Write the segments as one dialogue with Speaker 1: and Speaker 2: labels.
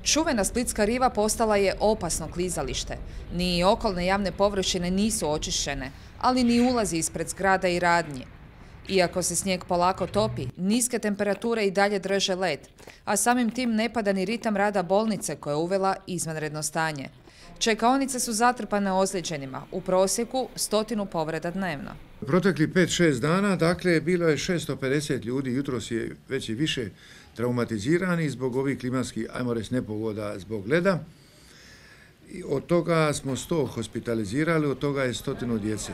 Speaker 1: Čuvena splitska riva postala je opasno klizalište. Ni okolne javne površine nisu očišćene, ali ni ulazi ispred zgrada i radnji. Iako se snijeg polako topi, niske temperature i dalje drže led, a samim tim ne pada ni ritam rada bolnice koja je uvela izvanredno stanje. Čekaonice su zatrpane ozlijeđenima, u prosjeku 100 povreda dnevno.
Speaker 2: Protekli 5-6 dana, dakle, bilo je 650 ljudi, jutros je već i više traumatizirani zbog ovih klimatskih, ajmo reći, nepogoda zbog leda. I od toga smo 100 hospitalizirali, od toga je 100 djece.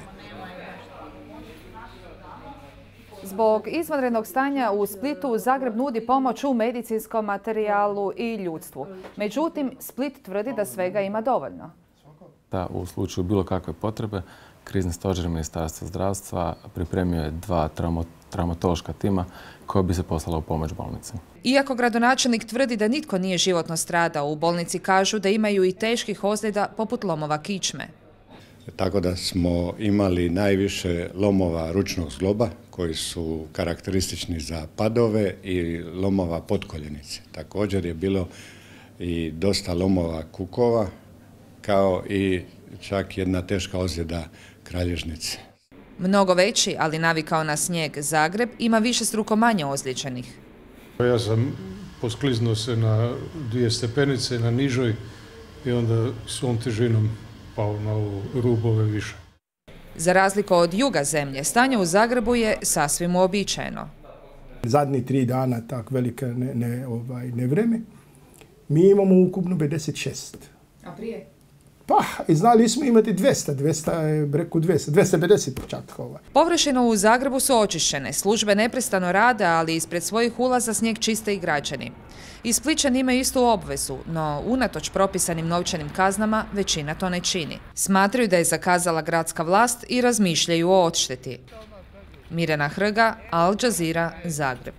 Speaker 1: Zbog izvanrednog stanja u Splitu, Zagreb nudi pomoć u medicinskom materijalu i ljudstvu. Međutim, Split tvrdi da svega ima dovoljno.
Speaker 3: Da, u slučaju bilo kakve potrebe, krizni stožer Ministarstva zdravstva pripremio je 2 traumatološka tima koja bi se poslala u pomoć bolnici.
Speaker 1: Iako gradonačelnik tvrdi da nitko nije životno stradao, u bolnici kažu da imaju i teških ozljeda poput lomova kičme.
Speaker 4: Tako da smo imali najviše lomova ručnog zgloba koji su karakteristični za padove i lomova potkoljenice. Također je bilo i dosta lomova kukova, kao i čak jedna teška ozljeda kralježnice.
Speaker 1: Mnogo veći, ali navikao na snijeg, Zagreb ima višestruko manje ozlijeđenih.
Speaker 5: Ja sam poskliznuo se na 2 stepenice na nižoj i onda svom težinom pao na rubove više.
Speaker 1: Za razliku od juga zemlje, stanje u Zagrebu je sasvim uobičajeno.
Speaker 6: Zadnji 3 dana tak velike nevreme. Mi imamo ukupno 56.
Speaker 1: A prije?
Speaker 6: Pa, i znali smo imati 250 čak.
Speaker 1: Površine u Zagrebu su očišćene, službe neprestano rade, ali ispred svojih ulaza snijeg čiste i građani. I Splićani imaju istu obvezu, no unatoč propisanim novčanim kaznama većina to ne čini. Smatraju da je zakazala gradska vlast i razmišljaju o odšteti. Mirjana Hrga, Al Jazeera, Zagreb.